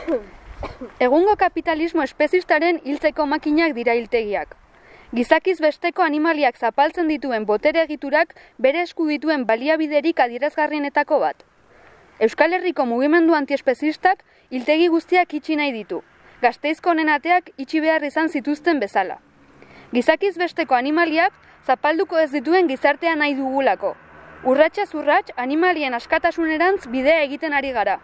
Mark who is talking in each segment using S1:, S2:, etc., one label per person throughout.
S1: Egungo kapitalismo espezistaren hiltzeko makinak dira hiltegiak. Gizakiz besteko animaliak zapaltzen dituen botere egiturak bere esku dituen baliabiderik adierazgarrienetako bat. Euskal Herriko mugimendu antiespezistak hiltegi guztiak itxi nahi ditu, Gasteizko honen ateak itxi behar izan zituzten bezala. Gizakiz besteko animaliak zapalduko ez dituen gizartea nahi dugulako. Urratsaz urrats animalien askatasunerantz bidea egiten ari gara.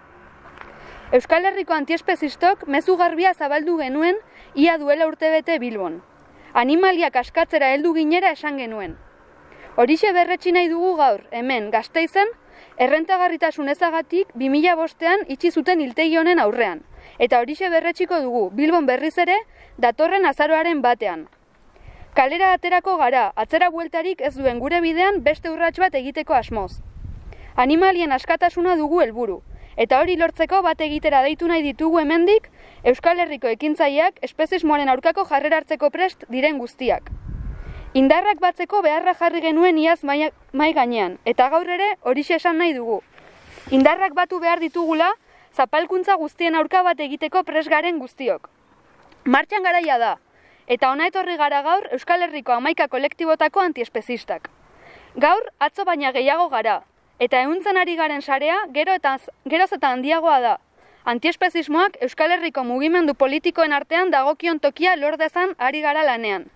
S1: Euskal Herriko antiespezistok mezu garbia zabaldu genuen ia duela urtebete Bilbon. Animaliak askatzera heldu ginera esan genuen. Horixe berretsi nahi dugu gaur, hemen, Gasteizen, errentagarritasun ezagatik 2005ean itxi zuten hiltegi honen aurrean. Eta horixe berretsiko dugu, Bilbon berriz ere, datorren azaroaren batean. Kalera aterako gara, atzera bueltarik ez duen gure bidean beste urrats bat egiteko asmoz. Animalien askatasuna dugu helburu, eta hori lortzeko bat egitera deitu nahi ditugu hemendik, Euskal Herriko ekintzaileak espezismoaren aurkako jarrera hartzeko prest diren guztiak. Indarrak batzeko beharra jarri genuen iaz mai gainean, eta gaur ere horixe esan nahi dugu. Indarrak batu behar ditugula, zapalkuntza guztien aurka bat egiteko prest garen guztiok. Martxan garaia da, eta hona etorri gara gaur Euskal Herriko 11 kolektibotako antiespezistak. Gaur atzo baina gehiago gara, eta ehuntzen ari garen sarea geroz eta handiagoa da. Antiespezismoak Euskal Herriko mugimendu politikoen artean dagokion tokia lor dezan ari gara lanean.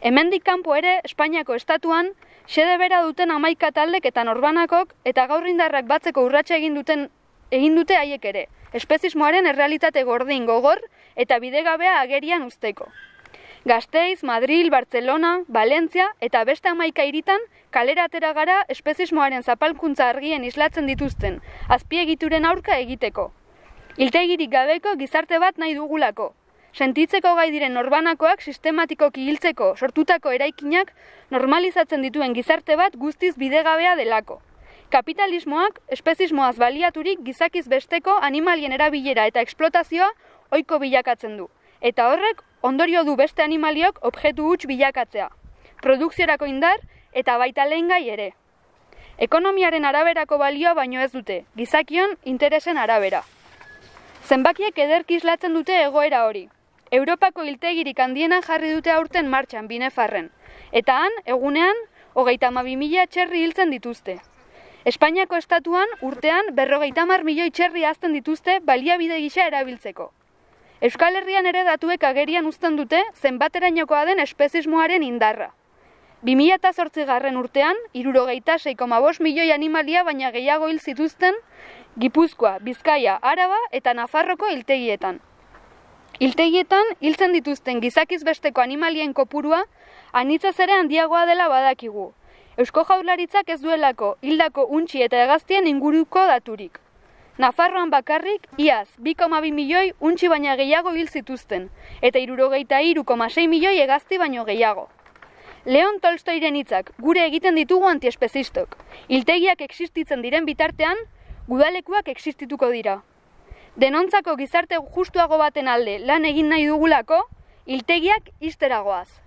S1: Hemendik kanpo ere, Espainiako estatuan, xede bera duten 11 taldek eta norbanakok eta gaur indarrak batzeko urratsa egin dute haiek ere, espezismoaren errealitate gordin gogor eta bidegabea agerian uzteko. Gasteiz, Madril, Bartzelona, Valentzia eta beste 11 hiritan kalera atera gara espezismoaren zapalkuntza argien islatzen dituzten, azpiegituren aurka egiteko. Hiltegirik gabeko gizarte bat nahi dugulako. Sentitzeko gai diren norbanakoak sistematikoki hiltzeko sortutako eraikinak normalizatzen dituen gizarte bat guztiz bidegabea delako. Kapitalismoak espezismoaz baliaturik gizakiz besteko animalien erabilera eta eksplotazioa ohiko bilakatzen du. Eta horrek ondorio du beste animaliok objektu huts bilakatzea. Produkziorako indar eta baita lehengai ere. Ekonomiaren araberako balioa baino ez dute, gizakion interesen arabera. Zenbakiek ederki islatzen dute egoera hori. Europako hiltegirik handiena jarri dute aurten martxan Binefarren. Eta han, egunean, 32.000 txerri hiltzen dituzte. Espainiako estatuan urtean 50 milioi txerri hazten dituzte baliabide gisa erabiltzeko. Euskal Herrian ere datuek agerian uzten dute zenbaterainokoa den espezismoaren indarra. 2008 urtean, 66,5 milioi animalia baina gehiago hil zituzten Gipuzkoa, Bizkaia, Araba eta Nafarroko hiltegietan. Hiltegietan hiltzen dituzten gizakiz besteko animalien kopurua anitzaz ere handiagoa dela badakigu. Eusko Jaurlaritzak ez duelako hildako untxi eta hegaztien inguruko daturik. Nafarroan bakarrik, iaz, 2,2 milioi untxi baina gehiago hil zituzten, eta 63,6 milioi hegazti baino gehiago. Leon Tolstoiren hitzak gure egiten ditugu antiespezistok. Hiltegiak existitzen diren bitartean, gudalekuak existituko dira. Denontzako gizarte justuago baten alde lan egin nahi dugulako, hiltegiak ixtera goaz.